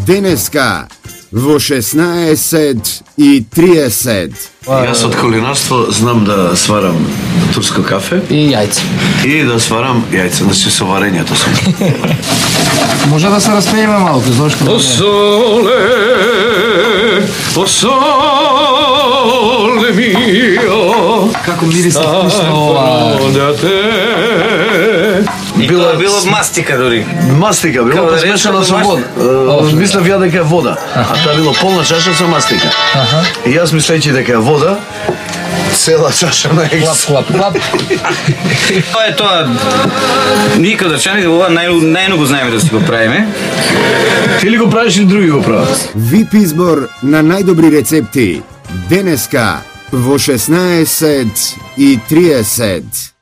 Денеска во 16:30. Јас од кулинарство знам да сварам турско кафе и јајца. И да сварам јајца, значи со варењето сум. Може да се распееме малку, зошто? О соле мио. Како мирисе вкусно ова. Било мастика дури. Мастика, било па смешано со вода. Мислев ја дека е вода, а таа било полна чаша со мастика. И јас мислејќи дека е вода, цела чаша на екс. Клап. Тоа е тоа. Ние како дачани ова најно го знаеме да си го правиме. Ти ли го правиш или други го прават? ВИП избор на најдобри рецепти. Денеска во 16:30.